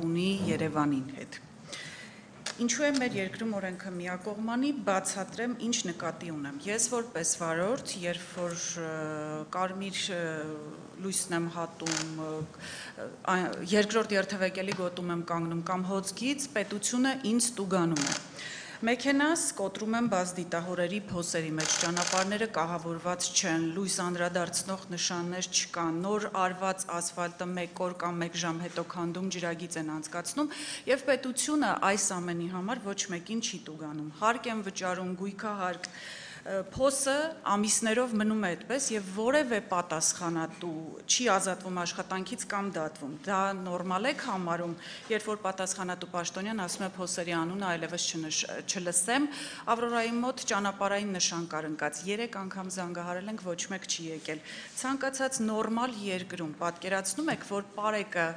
ունի Երևանին հետ։ Ինչու է մեր երկրում օրենքը միակողմանի, բացատրեմ ինչ նկատի ունեմ։ Ես որպես վարորդ, երբ որ կարմիր լույսն եմ հատում, երկրորդ երթևեկելի գոտում եմ կանգնում կամ հոցկից, պետությունը ինձ տուգանում է։ Մեքենաս կոտրում եմ բաց դիտահորերի փոսերի մեջ, ճանապարհները կահավորված չեն, լույս անդրադարձնող նշաններ չկան, նոր արված ասֆալտը 1 օր կամ 1 ժամ հետո քանդում ջրագիծ են անցկացնում, եւ պետությունը այս ամենի համար ոչ մեկին չի տուգանում։ Հարկ են վճարում, գույքահարկ, փոսը ամիսներով մնում է այդպես եւ որևէ պատասխանատու չի ազատվում աշխատանքից կամ դատվում։ Դա նորմալ է համարում, երբ որ պատասխանատու պաշտոնյան ասում է փոսերի անունը այլևս չլսեմ, Ավրորայի մոտ ճանապարհային նշան կար ընկած, 3 անգամ զանգահարել ենք, ոչ մեկ չի եկել։ Ցանկացած նորմալ երկրում պատկերացնում եք, որ պարեկը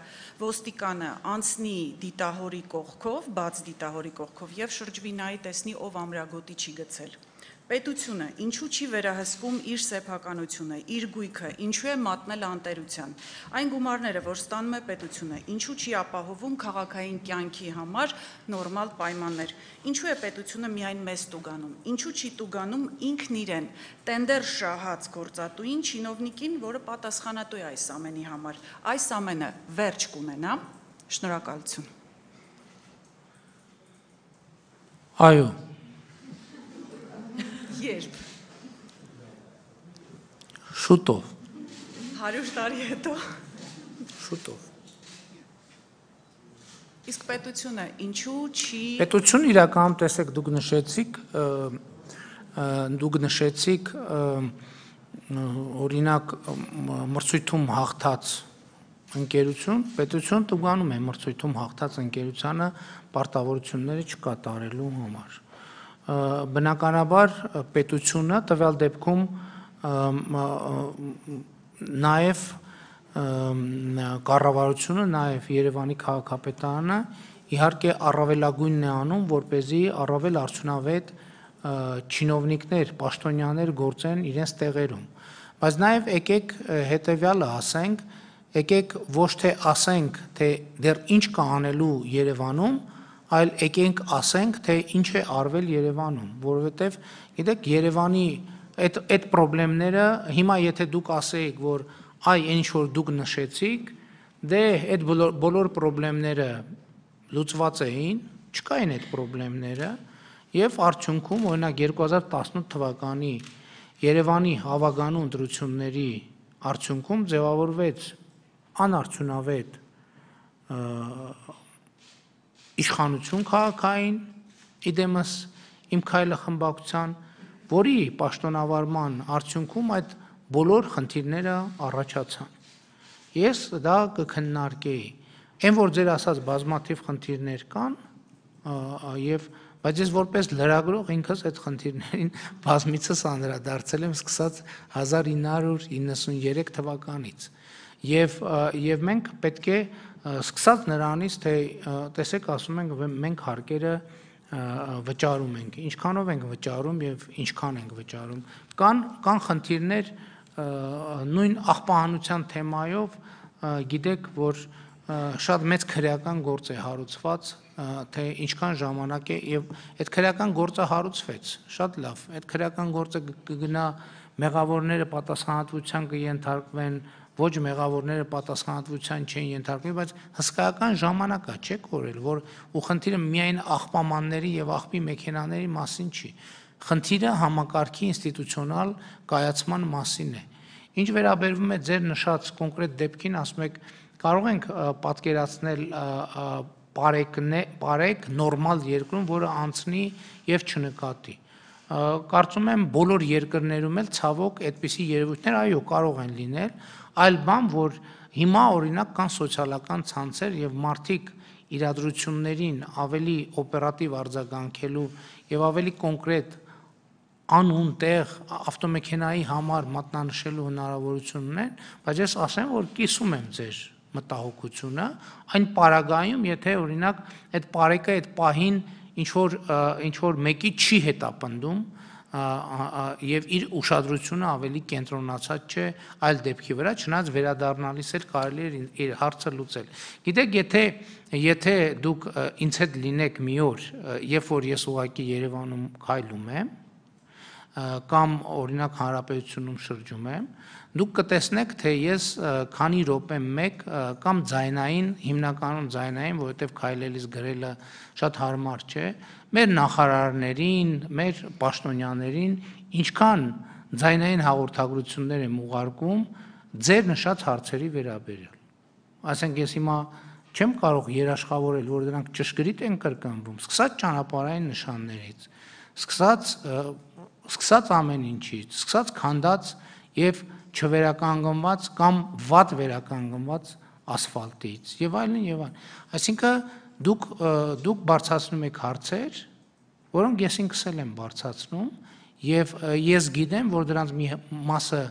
ոստիկանը անցնի դիտահորի կողքով, բաց դիտահորի կողքով եւ շրջվի նայի տեսնի ով ամրագոտի չի գցել։ Պետությունը ինչու չի վերահսկում իր սեփականությունը, իր գույքը, ինչու է մատնել անտերության։ Այն գումարները, որ ստանում է պետությունը, ինչու չի ապահովում քաղաքային կյանքի համար նորմալ պայմաններ։ Ինչու է պետությունը միայն մեզ տուգանում, ինչու չի տուգանում ինքն իրեն, տենդեր շահած գործատուին, չինովնիկին, որը պատասխանատու է այս ամենի համար։ Այս ամենը վերջ կունենա։ Շնորհակալություն։ Այո։ Երբ։ Շուտով։ 100 տարի հետո։ Շուտով։ Իսկ պետությունը ինչու չի։ Պետությունը իրականում տեսեք դուք նշեցիք օրինակ մրցույթում հաղթած ընկերություն, պետությունը տուգանում է մրցույթում հաղթած ընկերությանը պարտավորությունները չկատարելու համար։ Բնականաբար պետությունը տվյալ դեպքում նաև կառավարությունը, նաև Երևանի քաղաքապետարանը իհարկե առավելագույնն է անում, որպեսզի առավել արդյունավետ չինովնիկներ, պաշտոնյաներ գործեն իրենց տեղերում։ Բայց նաև եկեք հետևյալը ասենք, եկեք ոչ թե ասենք, թե դեռ ինչ կա անելու Երևանում, այլ եկենք ասենք, թե ինչ է արվել Երևանում, որովհետև գիտեք Երևանի այդ խնդիրները հիմա եթե դուք ասեիք, որ այ ինչ որ դուք նշեցիք, դե այդ բոլոր խնդիրները լուծված էին, չկային այդ խնդիրները, եւ արդյունքում օրինակ 2018 թվականի Երևանի հավագանու ընտրությունների արդյունքում ձևավորվեց անարդյունավետ իշխանություն քաղաքային իդեմս իմ քայլը խմբակցության, որի պաշտոնավարման արդյունքում այդ բոլոր խնդիրները առաջացան։ Ես դա կքննարկեի։ Այն որ ձեր ասած բազմաթիվ խնդիրներ կան, բայց ես որպես լրագրող ինքս այդ խնդիրներին բազմիցս անդրադարձել եմ սկսած 1993 թվականից։ Եվ մենք պետք է սկսած նրանից, թե տեսեք ասում ենք մենք հարկերը վճարում ենք, ինչքանով ենք վճարում եւ ինչքան ենք վճարում։ Կան խնդիրներ նույն աղբահանության թեմայով, գիտեք, որ շատ մեծ քրեական գործ է հարուցված, թե ինչքան ժամանակ է եւ այդ քրեական գործը հարուցվեց, շատ լավ, այդ քրեական գործը կգնա մեղավորները պատասխանատվության կենթարկվեն, ոչ մեղավորները պատասխանատվության չեն ենթարկվի, բայց հսկայական ժամանակ է, չէ՞ կորել, որ ու խնդիրը միայն աղբամանների եւ աղբի մեքենաների մասին չի։ Խնդիրը համակարգի ինստիտուցիոնալ կայացման մասին է։ Ինչ վերաբերվում է ձեր նշած կոնկրետ դեպքին, ասում եք, կարող ենք պատկերացնել պարեկ նորմալ երկրում, որը անցնի եւ չնկատի։ Կարծում եմ բոլոր երկրներում էլ ցավոք այդպիսի երևույթներ այո կարող են լինել, այլ բան, որ հիմա օրինակ կան սոցիալական ցանցեր եւ մարդիկ իրադրություններին ավելի օպերատիվ արձագանքելու եւ ավելի կոնկրետ անուն տեղ ավտոմեքենայի համար մատնանշելու հնարավորություն ունեն, բայց ես ասեմ, որ կիսում եմ ձեր մտահոգությունը, այն պարագայում, եթե օրինակ այդ պարեկը այդ պահին ինչ որ մեկի չի հետապնդում, եւ իր ուշադրությունը ավելի կենտրոնացած չէ այլ դեպքի վրա, չնայած վերադառնալիս էլ կարելի է իր հարցը լուծել։ Գիտեք, եթե դուք ինձ հետ լինեք մի օր, երբ որ ես ուղղակի Երևանում քայլում եմ, կամ օրինակ Հանրապետությունում շրջում եմ, դուք կտեսնեք, թե ես քանի րոպե մեկ կամ ձայնային, հիմնականում ձայնային, որովհետև քայլելիս գրելը շատ հարմար չէ, մեր նախարարներին, մեր պաշտոնյաներին ինչքան ձայնային հաղորդագրություններ եմ ուղարկում ձեր նշած հարցերի վերաբերյալ։ Ասենք ես հիմա չեմ կարող երաշխավորել, որ դրանք ճշգրիտ են կրկնվում, սկսած ճանապարհային նշաններից, սկսած ամեն ինչից, սկսած քանդած եւ չվերականգնված կամ վատ վերականգնված ասֆալտից եւ այլն եւ այլն։ Այսինքն դուք բարձրացնում եք հարցեր, որոնք ես ինքս եմ բարձրացնում եւ ես գիտեմ, որ դրանց մի մասը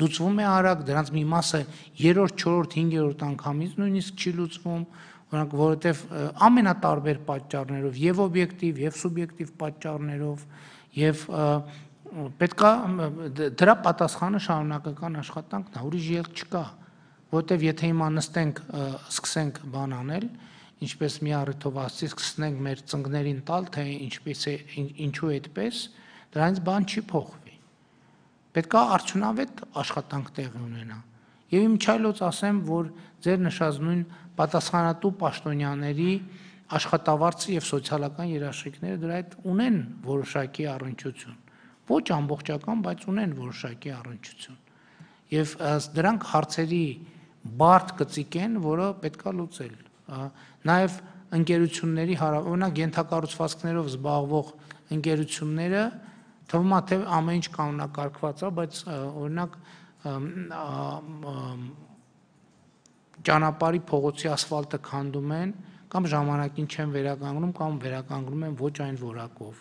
լուծվում է արագ, դրանց մի մասը 3-րդ, 4-րդ, 5-րդ անգամից նույնիսկ չի լուծվում, որովհետեւ ամենատարբեր պատճառներով եւ օբյեկտիվ եւ սուբյեկտիվ պատճառներով եւ պետք է դրա պատասխանը շարունակական աշխատանքն է, ուրիշ ելք չկա, որովհետեւ եթե հիմա նստենք, սկսենք բան անել, ինչպես մի առիթով ասեցի, սկսենք մեր ծնկներին տալ, թե ինչպես է, ինչու այդպես, դրանից բան չի փոխվի։ Պետք է արդյունավետ աշխատանք տեղի ունենա։ Եվ իմ չայլոց ասեմ, որ ձեր նշած նույն պատասխանատու պաշտոնյաների աշխատավարձը եւ սոցիալական երաշխիքները դրա հետ ունեն որոշակի առնչություն։ Ոչ ամբողջական, բայց ունեն որոշակի առնչություն։ Եվ դրանք հարցերի բարդ գծիկ են, որը պետք է լուծել։ Նաեւ ընկերությունների օրինակ ենթակառուցվածքներով զբաղվող ընկերությունները թվում է թե ամեն ինչ կանոնակարգված է, բայց օրինակ ճանապարհի փողոցի ասֆալտը քանդում են կամ ժամանակին չեն վերականգնում կամ վերականգնում են ոչ այն որակով։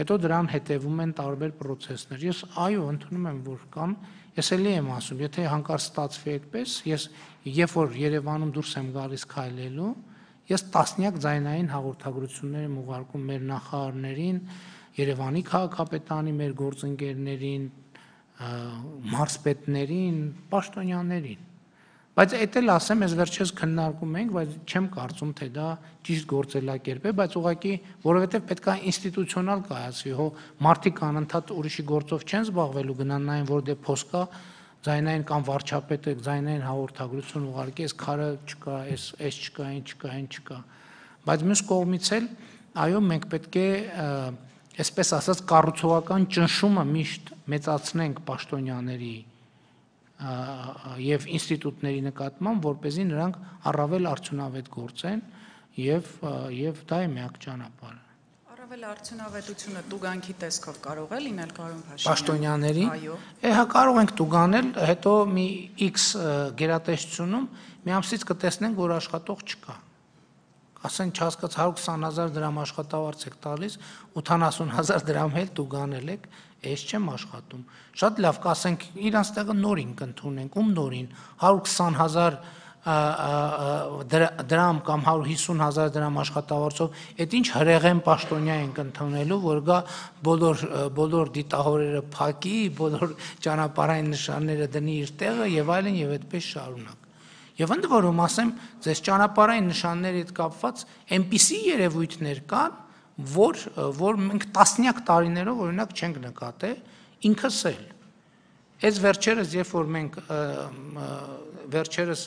Հետո դրան հետևում են տարբեր process-ներ։ Ես այո, ընդունում եմ, որ կան, ես էլի եմ ասում, եթե հանկարծ ստացվի այդպես, ես երբ որ Երևանում դուրս եմ գալիս քայլելու, ես տասնյակ ձայնային հաղորդագրություններ եմ ուղարկում մեր նախարարներին, Երևանի քաղաքապետարանի, մեր գործընկերներին, մարզպետներին, պաշտոնյաներին։ Բայց էդ էլ ասեմ, ես վերջերս քննարկում ենք, բայց չեմ կարծում, թե դա ճիշտ գործելակերպ է, բայց ուղղակի, որովհետև պետք է ինստիտուցիոնալ կայացվի, հո մարդիկ անընդհատ ուրիշի գործով չեն զբաղվելու, գնան նայեն, որ դե փոս կա, ձայնային կամ վարչապետը ձայնային հաղորդագրություն ուղարկի, այս քարը չկա, այս չկա, այն չկա, այն չկա։ Բայց մյուս կողմից էլ, այո, մենք պետք է այսպես ասած կառուցողական ճնշումը միշտ մեծացնենք պաշտոնյաների եւ ինստիտուտների նկատմամբ, որպեսզի նրանք առավել արդյունավետ գործեն եւ դա է միակ ճանապարհը։ Առավել արդյունավետությունը տուգանքի տեսքով կարող է լինել, Կարոն Փաշինյան։ Պաշտոնյաների։ Այո։ Հա կարող ենք տուգանել, հետո մի X գերատեսչությունում մի ամսից կտեսնենք, որ աշխատող չկա։ Ասեն չհասկաց 120,000 դրամ աշխատավարձ եք տալիս, 80,000 դրամ էլ դուգանել եք, ես չեմ աշխատում։ Շատ լավ, կասենք իրանց տեղը նորին կընդունենք, ում նորին 120,000 դրամ կամ 150,000 դրամ աշխատավարձով, այդ ինչ հրեղեն պաշտոնյա ենք ընդունելու, որ գա բոլոր դիտահորերը փակի, բոլոր ճանապարհային նշանները դնի իր տեղը եւ այլն եւ այդպես շարունակ։ Եվ ընդ որում ասեմ, ձեզ ճանապարհային նշանների հետ կապված այնպիսի երևույթներ կան, որ մենք տասնյակ տարիներով օրինակ չենք նկատել, ինքս էլ։ Այս վերջերս, երբ որ մենք վերջերս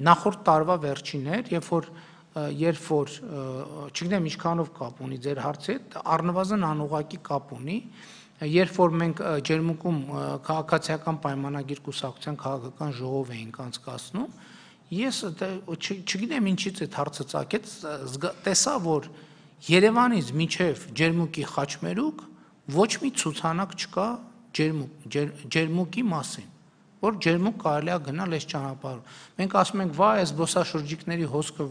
նախորդ տարվա վերջին էր, երբ որ չգիտեմ ինչքանով կապ ունի ձեր հարցի հետ, առնվազն անուղղակի կապ ունի, երբ որ մենք Ջերմուկում քաղաքացիական պայմանագիր կուսակցության քաղաքական ժողով էինք անցկացնում, ես չգիտեմ ինչից այդ հարցը ծագեց, տեսա, որ Երևանից մինչև Ջերմուկի Խաչմերուկ ոչ մի ցուցանակ չկա Ջերմուկի մասին, որ Ջերմուկ կարելի է գնալ այս ճանապարհով։ Մենք ասում ենք, վայ, այս զբոսաշրջիկների հոսքը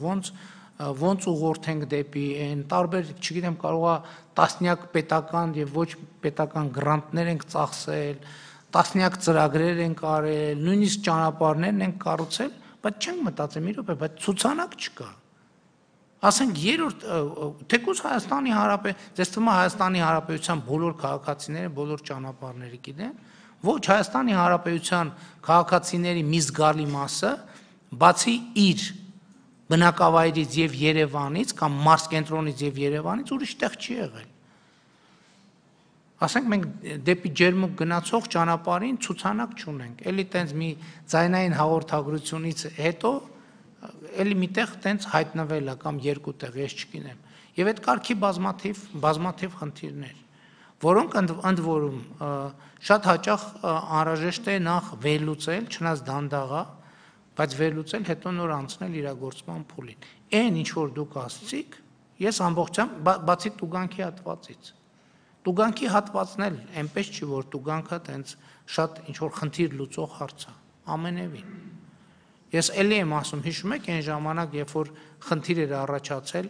ոնց ուղղորդենք դեպի այն տարբեր, չգիտեմ, կարող է տասնյակ պետական եւ ոչ պետական գրանտներ ենք ծախսել, տասնյակ ծրագրեր ենք արել, նույնիսկ ճանապարհներն ենք կառուցել, բայց չենք մտածել մի րոպե, բայց ցուցանակ չկա։ ասենք երրորդ թեկուզ Հայաստանի Հանրապետության, ձեզ թվում է Հայաստանի Հանրապետության բոլոր քաղաքացիները բոլոր ճանապարհները գիտեն, ոչ Հայաստանի Հանրապետության քաղաքացիների մի զգալի մասը, բացի իր բնակավայրից եւ Երևանից կամ մարզկենտրոնից եւ Երևանից ուրիշ տեղ չի եղել։ Ասենք մենք դեպի ջերմուկ գնացող ճանապարհին ցուցանակ չունենք, էլի տենց մի ձայնային հաղորդագրությունից հետո էլի միտեղ տենց հայտնվել է կամ երկու տեղ, ես չգիտեմ։ Եվ այդ կարգի բազմաթիվ խնդիրներ, որոնք ընդ որում շատ հաճախ անհրաժեշտ է նախ վերլուծել, չնայած դանդաղ է, բայց վերլուծել, հետո նոր անցնել իրագործման փուլին։ Այն ինչ որ դուք ասացիք, ես ամբողջությամբ բացի տուգանքի հատվածից։ Տուգանքի հատվածն էլ այնպես չի, որ տուգանքը տենց շատ ինչ որ խնդիր լուծող հարց է, ամենևին։ Ես էլի եմ ասում, հիշում եք այն ժամանակ, երբ որ խնդիր էր առաջացել,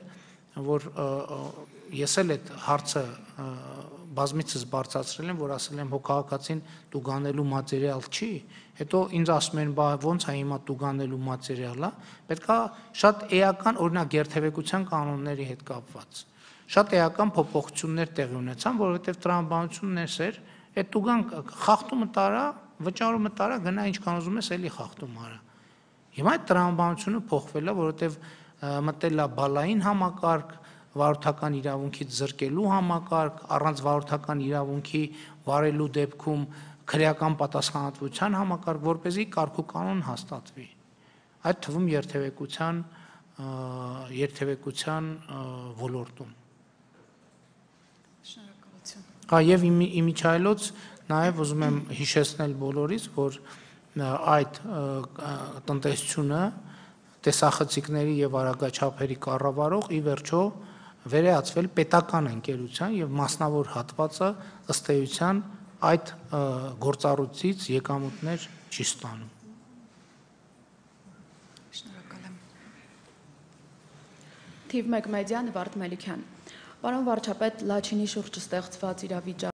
որ ես էլ այդ հարցը բազմիցս բարձրացրել եմ, որ ասել եմ, հո քաղաքացին տուգանելու մատերիալ չի, հետո ինձ ասում են, բա ոնց է հիմա տուգանելու մատերիալը, պետք է շատ էական, օրինակ երթևեկության կանոնների հետ կապված, շատ էական փոփոխություններ տեղի ունեցան, որովհետև տրամաբանությունն էր, այդ տուգան խախտումը տարա, վճարումը տարա, գնա ինչքան ուզում ես, էլի խախտում արա։ Հիմա այդ տրամաբանությունը փոխվել է, որովհետև մտել է բալային համակարգ, վարորդական իրավունքից զրկելու համակարգ, առանց վարորդական իրավունքի վարելու դեպքում քրեական պատասխանատվության համակարգ, որպեսզի կարգուկանոն հաստատվի։ Այդ թվում երթևեկության ոլորտում։ Շնորհակալություն։ Եվ իմիջայլոց նաև ուզում եմ հիշեցնել բոլորիս, որ այդ տնտեսությունը տեսախցիկների եւ արագաչափերի կառավարող ի վերջո վերեացվել պետական ընկերության եւ մասնավոր հատվածը ըստ էության այդ գործառույցից եկամուտներ չի ստանում։ Շնորհակալ եմ։ Թիվ 1 մեդիա Նվարդ Մելիքյան։ Պարոն վարչապետ, Լաչինի շուրջ ստեղծված իրավիճակը